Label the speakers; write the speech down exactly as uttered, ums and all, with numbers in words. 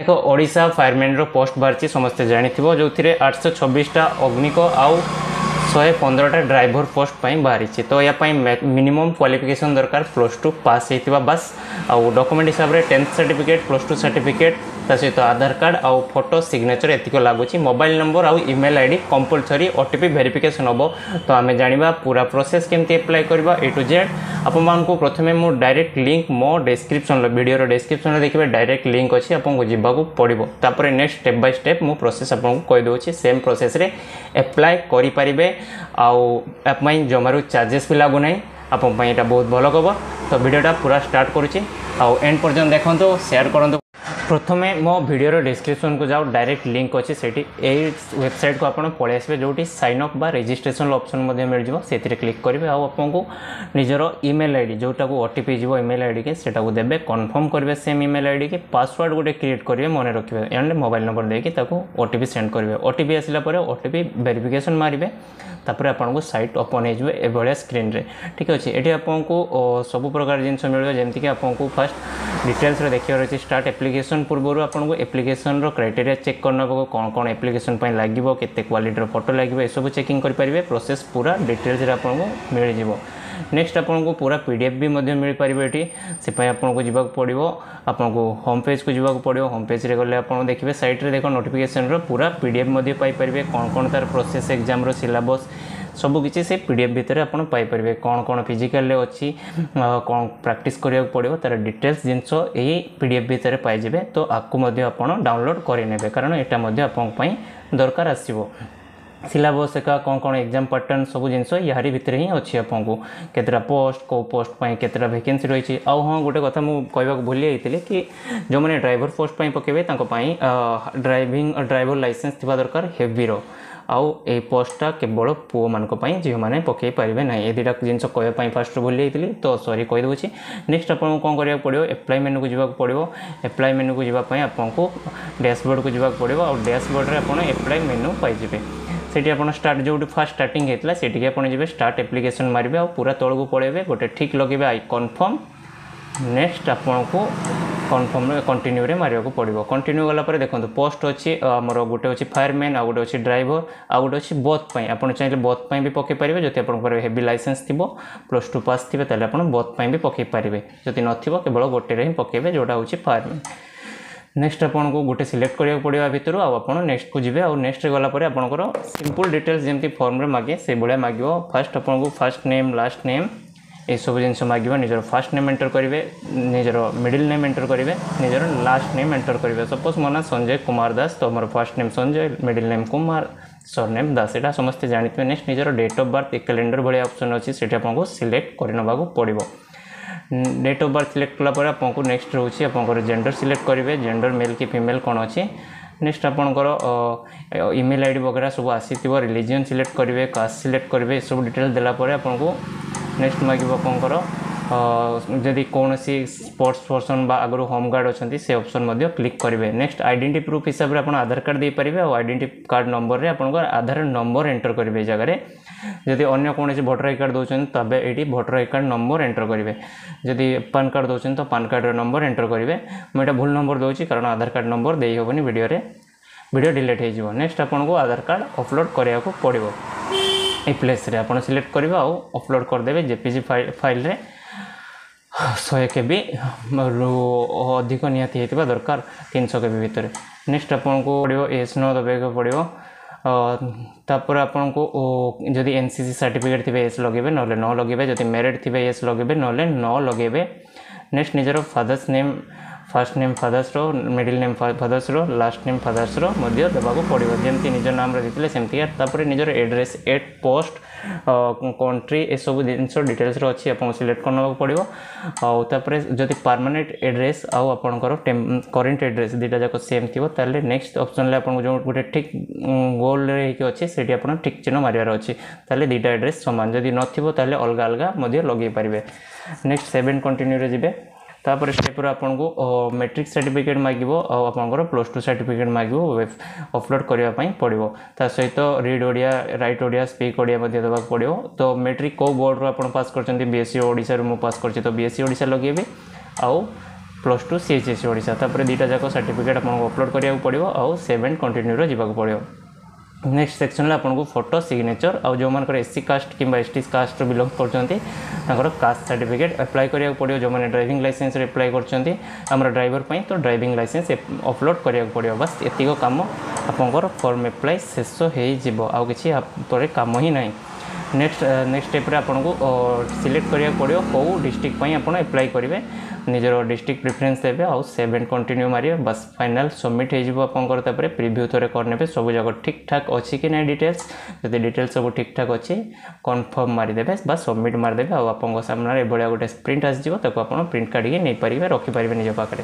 Speaker 1: ଦେଖ, ଓଡ଼ିଶା ଫାୟାରମ୍ୟାନ୍ର ପୋଷ୍ଟ ବାହାରିଛି, ସମସ୍ତେ ଜାଣିଥିବ, ଯେଉଁଥିରେ ଆଠଶହ ଛବିଶଟା ଅଗ୍ନିକ ଆଉ ଶହେ ପନ୍ଦରଟା ଡ୍ରାଇଭର ପୋଷ୍ଟ ପାଇଁ ବାହାରିଛି। ତ ୟା ପାଇଁ ମିନିମମ୍ କ୍ୱାଲିଫିକେସନ୍ ଦରକାର ପ୍ଲସ୍ ଟୁ ପାସ୍ ହେଇଥିବା ବାସ୍। ଆଉ ଡକୁମେଣ୍ଟ ହିସାବରେ tenth certificate, plus two certificate, ତା ସହିତ ଆଧାର କାର୍ଡ଼ ଆଉ ଫଟୋ, ସିଗ୍ନେଚର ଏତିକି ଲାଗୁଛି। ମୋବାଇଲ ନମ୍ବର ଆଉ email I D compulsory. O T P verification ହେବ। ତ ଆମେ ଜାଣିବା ପୁରା ପ୍ରୋସେସ୍, କେମିତି ଆପ୍ଲାଏ କରିବା ଏ ଟୁ ଜେଡ୍। ଆପଣମାନଙ୍କୁ ପ୍ରଥମେ ମୁଁ ଡାଇରେକ୍ଟ ଲିଙ୍କ୍ ମୋ ଡେସ୍କ୍ରିପ୍ସନ୍ର, ଭିଡ଼ିଓର ଡେସ୍କ୍ରିପ୍ସନ୍ରେ ଦେଖିବେ ଡାଇରେକ୍ଟ ଲିଙ୍କ୍ ଅଛି, ଆପଣଙ୍କୁ ଯିବାକୁ ପଡ଼ିବ। ତାପରେ ନେକ୍ସଟ ଷ୍ଟେପ୍ ବାଇ ଷ୍ଟେପ୍ ମୁଁ ପ୍ରୋସେସ୍ ଆପଣଙ୍କୁ କହିଦେଉଛି। ସେମ୍ ପ୍ରୋସେସ୍ରେ ଆପ୍ଲାଏ କରିପାରିବେ ଆଉ ୟା ପାଇଁ ଜମାରୁ ଚାର୍ଜେସ୍ ବି ଲାଗୁନାହିଁ। ଆପଣଙ୍କ ପାଇଁ ଏଇଟା ବହୁତ ଭଲ ଖବର। ତ ଭିଡ଼ିଓଟା ପୁରା ଷ୍ଟାର୍ଟ କରୁଛି ଆଉ ଏଣ୍ଡ ପର୍ଯ୍ୟନ୍ତ ଦେଖନ୍ତୁ, ସେୟାର କରନ୍ତୁ। ପ୍ରଥମେ ମୋ ଭିଡ଼ିଓର ଡେସ୍କ୍ରିପ୍ସନ୍କୁ ଯାଅ, ଡାଇରେକ୍ଟ ଲିଙ୍କ୍ ଅଛି ସେଇଠି। ଏଇ ୱେବସାଇଟ୍କୁ ଆପଣ ପଳେଇ ଆସିବେ, ଯେଉଁଠି ସାଇନ୍ ଅପ୍ ବା ରେଜିଷ୍ଟ୍ରେସନ୍ ଅପସନ୍ ମଧ୍ୟ ମିଳିଯିବ। ସେଥିରେ କ୍ଲିକ୍ କରିବେ ଆଉ ଆପଣଙ୍କୁ ନିଜର ଇମେଲ୍ I D, ଯେଉଁଟାକୁ ଓ ଟି ପି ଯିବ ଇମେଲ୍ I ଡ଼ିକି, ସେଟାକୁ ଦେବେ। କନଫର୍ମ କରିବେ same email I Diki. Password ଗୋଟେ କ୍ରିଏଟ୍ କରିବେ, ମନେ ରଖିବେ, ଆଣ୍ଡ ମୋବାଇଲ୍ ନମ୍ବର ଦେଇକି ତାକୁ ଓ ଟି ପି ସେଣ୍ଡ କରିବେ। ଓ ଟି ପି ଆସିଲା ପରେ ଓ ଟି ପି ଭେରିଫିକେସନ୍ ମାରିବେ। ତାପରେ ଆପଣଙ୍କୁ ସାଇଟ୍ ଓପନ୍ ହେଇଯିବ ଏଭଳିଆ ସ୍କ୍ରିନ୍ରେ। ଠିକ୍ ଅଛି, ଏଠି ଆପଣଙ୍କୁ ସବୁ ପ୍ରକାର ଜିନିଷ ମିଳିବ। ଯେମିତିକି ଆପଣଙ୍କୁ ଫାର୍ଷ୍ଟ ଡିଟେଲ୍ସରେ ଦେଖିବାର ଅଛି, ଷ୍ଟାର୍ଟ ଆପ୍ଲିକେସନ୍ ପୂର୍ବରୁ ଆପଣଙ୍କୁ ଆପ୍ଲିକେସନ୍ର କ୍ରାଇଟେରିଆ ଚେକ୍ କରିନେବାକୁ, କ'ଣ କ'ଣ ଆପ୍ଲିକେସନ୍ ପାଇଁ ଲାଗିବ, କେତେ କ୍ୱାଲିଟିର ଫଟୋ ଲାଗିବ, ଏସବୁ ଚେକିଂ କରିପାରିବେ। ପ୍ରୋସେସ୍ ପୁରା ଡିଟେଲ୍ସରେ ଆପଣଙ୍କୁ ମିଳିଯିବ। ନେକ୍ସଟ ଆପଣଙ୍କୁ ପୁରା ପି ଡି ଏଫ୍ ବି ମଧ୍ୟ ମିଳିପାରିବ ଏଠି। ସେ ପାଇଁ ଆପଣଙ୍କୁ ଯିବାକୁ ପଡ଼ିବ, ଆପଣଙ୍କୁ ହୋମ୍ ପେଜ୍କୁ ଯିବାକୁ ପଡ଼ିବ। ହୋମ୍ ପେଜ୍ରେ ଗଲେ ଆପଣ ଦେଖିବେ ସାଇଟ୍ରେ ଦେଖ ନୋଟିଫିକେସନ୍ର ପୁରା ପି ଡି ଏଫ୍ ମଧ୍ୟ ପାଇପାରିବେ। କ'ଣ କ'ଣ ତା'ର ପ୍ରୋସେସ୍, ଏକ୍ଜାମ୍ର ସିଲାବସ୍ ସବୁକିଛି ସେ ପି ଡି ଏଫ୍ ଭିତରେ ଆପଣ ପାଇପାରିବେ। କ'ଣ କ'ଣ ଫିଜିକାଲରେ ଅଛି, କ'ଣ ପ୍ରାକ୍ଟିସ୍ କରିବାକୁ ପଡ଼ିବ, ତା'ର ଡିଟେଲ୍ସ ଜିନିଷ ଏହି ପି ଡି ଏଫ୍ ଭିତରେ ପାଇଯିବେ। ତ ଆକୁ ମଧ୍ୟ ଆପଣ ଡାଉନଲୋଡ଼୍ କରିନେବେ, କାରଣ ଏଇଟା ମଧ୍ୟ ଆପଣଙ୍କ ପାଇଁ ଦରକାର ଆସିବ। ସିଲାବସ୍ ଏକା, କ'ଣ କ'ଣ ଏକ୍ଜାମ୍ ପାଟର୍ନ, ସବୁ ଜିନିଷ ୟାରି ଭିତରେ ହିଁ ଅଛି। ଆପଣଙ୍କୁ କେତେଟା ପୋଷ୍ଟ, କେଉଁ ପୋଷ୍ଟ ପାଇଁ କେତେଟା ଭେକେନ୍ସି ରହିଛି। ଆଉ ହଁ, ଗୋଟେ କଥା ମୁଁ କହିବାକୁ ଭୁଲି ଯାଇଥିଲି କି ଯେଉଁମାନେ ଡ୍ରାଇଭର ପୋଷ୍ଟ ପାଇଁ ପକାଇବେ, ତାଙ୍କ ପାଇଁ ଡ୍ରାଇଭିଂ ଡ୍ରାଇଭର ଲାଇସେନ୍ସ ଥିବା ଦରକାର ହେଭିର। ଆଉ ଏଇ ପୋଷ୍ଟଟା କେବଳ ପୁଅମାନଙ୍କ ପାଇଁ, ଝିଅମାନେ ପକାଇ ପାରିବେ ନାହିଁ। ଏ ଦୁଇଟା ଜିନିଷ କହିବା ପାଇଁ ଫାଷ୍ଟରୁ ଭୁଲି ଯାଇଥିଲି, ତ ସରି, କହିଦେଉଛି। ନେକ୍ସଟ ଆପଣଙ୍କୁ କ'ଣ କରିବାକୁ ପଡ଼ିବ? ଆପ୍ଲାଏ ମେନୁକୁ ଯିବାକୁ ପଡ଼ିବ। ଆପ୍ଲାଏ ମେନୁକୁ ଯିବା ପାଇଁ ଆପଣଙ୍କୁ ଡ୍ୟାସବୋର୍ଡ଼କୁ ଯିବାକୁ ପଡ଼ିବ ଆଉ ଡ୍ୟାସବୋର୍ଡ଼ରେ ଆପଣ ଆପ୍ଲାଏ ମେନୁ ପାଇଯିବେ। ସେଠି ଆପଣ ଷ୍ଟାର୍ଟ, ଯେଉଁଠି ଫାର୍ଷ୍ଟ ଷ୍ଟାର୍ଟିଂ ହେଇଥିଲା ସେଠିକି ଆପଣ ଯିବେ, ଷ୍ଟାର୍ଟ ଆପ୍ଲିକେସନ୍ ମାରିବେ ଆଉ ପୁରା ତଳକୁ ପଳେଇବେ, ଗୋଟେ ଠିକ୍ ଲଗେଇବେ, I confirm. Next ଆପଣଙ୍କୁ କନଫର୍ମ କଣ୍ଟିନ୍ୟୁରେ ମାରିବାକୁ ପଡ଼ିବ। କଣ୍ଟିନ୍ୟୁ ଗଲା ପରେ ଦେଖନ୍ତୁ ପୋଷ୍ଟ ଅଛି ଆମର, ଗୋଟେ ଅଛି ଫାୟାରମ୍ୟାନ୍, ଆଉ ଗୋଟେ ଅଛି ଡ୍ରାଇଭର, ଆଉ ଗୋଟେ ଅଛି ବୋଥ୍ ପାଇଁ। ଆପଣ ଚାହିଁଲେ ବୋଥ୍ ପାଇଁ ବି ପକାଇ ପାରିବେ। ଯଦି ଆପଣଙ୍କର ହେଭି ଲାଇସେନ୍ସ ଥିବ, ପ୍ଲସ୍ ଟୁ ପାସ୍ ଥିବେ, ତାହେଲେ ଆପଣ ବୋଥ୍ ପାଇଁ ବି ପକାଇ ପାରିବେ। ଯଦି ନଥିବ, କେବଳ ଗୋଟେରେ ହିଁ ପକାଇବେ, ଯେଉଁଟା ହେଉଛି ଫାୟାରମ୍ୟାନ୍। ନେକ୍ସଟ ଆପଣଙ୍କୁ ଗୋଟେ ସିଲେକ୍ଟ କରିବାକୁ ପଡ଼ିବ ଭିତରୁ ଆଉ ଆପଣ ନେକ୍ସଟକୁ ଯିବେ। ଆଉ ନେକ୍ସଟରେ ଗଲା ପରେ ଆପଣଙ୍କର ସିମ୍ପଲ୍ ଡିଟେଲ୍ସ ଯେମିତି ଫର୍ମରେ ମାଗେ ସେଇଭଳିଆ ମାଗିବ। ଫାର୍ଷ୍ଟ ଆପଣଙ୍କୁ ଫାର୍ଷ୍ଟ ନେମ୍, ଲାଷ୍ଟ ନେମ୍ ଏସବୁ ଜିନିଷ ମାଗିବ। ନିଜର ଫାର୍ଷ୍ଟ ନେମ୍ ଏଣ୍ଟର କରିବେ, ନିଜର ମିଡ଼ିଲ୍ ନେମ୍ ଏଣ୍ଟର କରିବେ, ନିଜର ଲାଷ୍ଟ ନେମ୍ ଏଣ୍ଟର କରିବେ। ସପୋଜ୍ ମୋ ନାଁ ସଞ୍ଜୟ କୁମାର ଦାସ, ତ ମୋର first name Sanjay, middle name Kumar, surname Das, ଏଇଟା ସମସ୍ତେ ଜାଣିଥିବେ। ନେକ୍ସଟ ନିଜର ଡେଟ୍ ଅଫ୍ ବାର୍ଥ, କ୍ୟାଲେଣ୍ଡର ଭଳିଆ ଅପସନ୍ ଅଛି, ସେଠି ଆପଣଙ୍କୁ ସିଲେକ୍ଟ କରିନେବାକୁ ପଡ଼ିବ। ଡେଟ୍ ଅଫ୍ ବାର୍ଥ ସିଲେକ୍ଟ କଲା ପରେ ଆପଣଙ୍କୁ ନେକ୍ସଟ ରହୁଛି ଆପଣଙ୍କର ଜେଣ୍ଡର ସିଲେକ୍ଟ କରିବେ, ଜେଣ୍ଡର ମେଲ୍ କି ଫିମେଲ୍ କ'ଣ ଅଛି। ନେକ୍ସଟ ଆପଣଙ୍କର ଇମେଲ୍ I D ବଗେରା ସବୁ ଆସିଥିବ। ରିଲିଜିଅନ୍ ସିଲେକ୍ଟ କରିବେ, କାଷ୍ଟ ସିଲେକ୍ଟ କରିବେ। ଏସବୁ ଡିଟେଲ୍ସ ଦେଲା ପରେ ଆପଣଙ୍କୁ ନେକ୍ସଟ ମାଗିବ ଆପଣଙ୍କର ଯଦି କୌଣସି ସ୍ପୋର୍ଟସ୍ ପର୍ସନ୍ ବା ଆଗରୁ ହୋମ୍ ଗାର୍ଡ଼ ଅଛନ୍ତି, ସେ ଅପସନ୍ ମଧ୍ୟ କ୍ଲିକ୍ କରିବେ। ନେକ୍ସଟ ଆଇଡେଣ୍ଟି ପ୍ରୁଫ୍ ହିସାବରେ ଆପଣ ଆଧାର କାର୍ଡ଼ ଦେଇପାରିବେ ଆଉ ଆଇଡେଣ୍ଟି କାର୍ଡ଼ ନମ୍ବରରେ ଆପଣଙ୍କର ଆଧାର ନମ୍ବର ଏଣ୍ଟର କରିବେ ଏ ଜାଗାରେ। ଯଦି ଅନ୍ୟ କୌଣସି ଭୋଟର I card ଦେଉଛନ୍ତି, ତେବେ ଏଇଠି voter I card number enter କରିବେ। ଯଦି ପାନ୍ କାର୍ଡ଼ ଦେଉଛନ୍ତି, ତ ପାନ୍ କାର୍ଡ଼ର ନମ୍ବର ଏଣ୍ଟର କରିବେ। ମୁଁ ଏଇଟା ଭୁଲ ନମ୍ବର ଦେଉଛି, କାରଣ ଆଧାର କାର୍ଡ଼ ନମ୍ବର ଦେଇ ହେବନି ଭିଡ଼ିଓରେ, ଭିଡ଼ିଓ ଡିଲେଟ୍ ହେଇଯିବ। ନେକ୍ସଟ ଆପଣଙ୍କୁ ଆଧାର କାର୍ଡ଼ ଅପଲୋଡ଼ କରିବାକୁ ପଡ଼ିବ। ଏଇ ପ୍ଲେସ୍ରେ ଆପଣ ସିଲେକ୍ଟ କରିବେ ଆଉ ଅପଲୋଡ଼ କରିଦେବେ ଜେପିଜି ଫାଇଲ୍ରେ, ଶହେ କେବି ଅଧିକ ନିହାତି ହେଇଥିବା ଦରକାର, ତିନିଶହ କେବି ଭିତରେ। ନେକ୍ସଟ ଆପଣଙ୍କୁ ପଡ଼ିବ ଏସ୍ ନୋ ଦେବାକୁ ପଡ଼ିବ। ତାପରେ ଆପଣଙ୍କୁ ଯଦି ଏନ୍ ସି ସି ସାର୍ଟିଫିକେଟ୍ ଥିବେ ଏସ୍ ଲଗେଇବେ, ନହେଲେ ନ ଲଗେଇବେ। ଯଦି ମ୍ୟାରିଡ଼୍ ଥିବେ ଏସ୍ ଲଗେଇବେ, ନହେଲେ ନ ଲଗେଇବେ। ନେକ୍ସଟ ନିଜର ଫାଦର୍ସ ନେମ୍, ଫାର୍ଷ୍ଟ ନେମ୍ ଫାଦର୍ସର, ମିଡ଼ିଲ୍ ନେମ୍ ଫାଦର୍ସର, ଲାଷ୍ଟ ନେମ୍ ଫାଦର୍ସର ମଧ୍ୟ ଦେବାକୁ ପଡ଼ିବ, ଯେମିତି ନିଜ ନାମରେ ଦେଇଥିଲେ ସେମିତିକା। ତାପରେ ନିଜର ଆଡ୍ରେସ୍, ଏଟ୍ ପୋଷ୍ଟ, କଣ୍ଟ୍ରି, ଏସବୁ ଜିନିଷ ଡିଟେଲ୍ସରେ ଅଛି, ଆପଣଙ୍କୁ ସିଲେକ୍ଟ କରିନେବାକୁ ପଡ଼ିବ। ଆଉ ତାପରେ ଯଦି ପରମାନେଣ୍ଟ ଆଡ୍ରେସ୍ ଆଉ ଆପଣଙ୍କର କରେଣ୍ଟ ଆଡ୍ରେସ୍ ଦୁଇଟା ଯାକ ସେମ୍ ଥିବ, ତାହେଲେ ନେକ୍ସଟ ଅପସନ୍ରେ ଆପଣଙ୍କୁ ଯେଉଁ ଗୋଟେ ଠିକ୍ ଗୋଲରେ ହେଇକି ଅଛି, ସେଇଠି ଆପଣ ଠିକ୍ ଚିହ୍ନ ମାରିବାର ଅଛି, ତାହେଲେ ଦୁଇଟା ଆଡ୍ରେସ୍ ସମାନ। ଯଦି ନଥିବ, ତାହେଲେ ଅଲଗା ଅଲଗା ମଧ୍ୟ ଲଗେଇ ପାରିବେ। ନେକ୍ସଟ ସେଭେନ୍ କଣ୍ଟିନ୍ୟୁରେ ଯିବେ। ତାପରେ ଷ୍ଟେପ୍ରେ ଆପଣଙ୍କୁ ମେଟ୍ରିକ୍ ସାର୍ଟିଫିକେଟ୍ ମାଗିବ ଆଉ ଆପଣଙ୍କର ପ୍ଲସ୍ ଟୁ ସାର୍ଟିଫିକେଟ୍ ମାଗିବ, ଅପଲୋଡ଼ କରିବା ପାଇଁ ପଡ଼ିବ। ତା ସହିତ read Odia, write Odia, speak Odia ମଧ୍ୟ ଦେବାକୁ ପଡ଼ିବ। ତ ମେଟ୍ରିକ୍ କେଉଁ ବୋର୍ଡ଼ରୁ ଆପଣ ପାସ୍ କରିଛନ୍ତି? ବି ଏସ୍ ଇ ଓଡ଼ିଶାରୁ ମୁଁ ପାସ୍ କରିଛି, ତ ବି ଏସ୍ ଇ ଓଡ଼ିଶା ଲଗେଇବି ଆଉ Plus two C H S Odisha. ତାପରେ ଦୁଇଟା ଯାକ ସାର୍ଟିଫିକେଟ୍ ଆପଣଙ୍କୁ ଅପଲୋଡ଼ କରିବାକୁ ପଡ଼ିବ ଆଉ ସେଭ୍ ଆଣ୍ଡ କଣ୍ଟିନ୍ୟୁରେ ଯିବାକୁ ପଡ଼ିବ। ନେକ୍ସଟ ସେକ୍ସନରେ ଆପଣଙ୍କୁ ଫଟୋ, ସିଗ୍ନେଚର୍ ଆଉ ଯେଉଁମାନଙ୍କର ଏସ୍ ସି କାଷ୍ଟ କିମ୍ବା ଏସ୍ ଟି କାଷ୍ଟରୁ ବିଲଙ୍ଗ କରୁଛନ୍ତି, ତାଙ୍କର କାଷ୍ଟ ସାର୍ଟିଫିକେଟ୍ ଆପ୍ଲାଏ କରିବାକୁ ପଡ଼ିବ। ଯେଉଁମାନେ ଡ୍ରାଇଭିଂ ଲାଇସେନ୍ସରେ ଆପ୍ଲାଏ କରୁଛନ୍ତି ଆମର ଡ୍ରାଇଭର ପାଇଁ, ତ ଡ୍ରାଇଭିଂ ଲାଇସେନ୍ସ ଅପଲୋଡ଼ କରିବାକୁ ପଡ଼ିବ। ବାସ୍, ଏତିକ କାମ, ଆପଣଙ୍କର ଫର୍ମ ଆପ୍ଲାଏ ଶେଷ ହେଇଯିବ। ଆଉ କିଛି ପରେ କାମ ହିଁ ନାହିଁ। ନେକ୍ସଟ ନେକ୍ସଟ ଷ୍ଟେପ୍ରେ ଆପଣଙ୍କୁ ସିଲେକ୍ଟ କରିବାକୁ ପଡ଼ିବ କେଉଁ ଡିଷ୍ଟ୍ରିକ୍ଟ ପାଇଁ ଆପଣ ଆପ୍ଲାଏ କରିବେ। ନିଜର ଡିଷ୍ଟ୍ରିକ୍ଟ ପ୍ରିଫରେନ୍ସ ଦେବେ ଆଉ ସେଭ୍ ଆଣ୍ଡ କଣ୍ଟିନ୍ୟୁ ମାରିବେ। ବାସ୍, ଫାଇନାଲ୍ ସବମିଟ୍ ହେଇଯିବ ଆପଣଙ୍କର। ତାପରେ ପ୍ରିଭ୍ୟୁ ଥରେ କରିନେବେ ସବୁ ଯାକ ଠିକ୍ ଠାକ୍ ଅଛି କି ନାହିଁ ଡିଟେଲ୍ସ। ଯଦି ଡିଟେଲ୍ସ ସବୁ ଠିକ୍ ଠାକ୍ ଅଛି, କନଫର୍ମ ମାରିଦେବେ ବା ସବମିଟ୍ ମାରିଦେବେ ଆଉ ଆପଣଙ୍କ ସାମ୍ନାରେ ଏଭଳିଆ ଗୋଟେ ପ୍ରିଣ୍ଟ ଆସିଯିବ। ତାକୁ ଆପଣ ପ୍ରିଣ୍ଟ କାଢ଼ିକି ନେଇପାରିବେ, ରଖିପାରିବେ ନିଜ ପାଖରେ।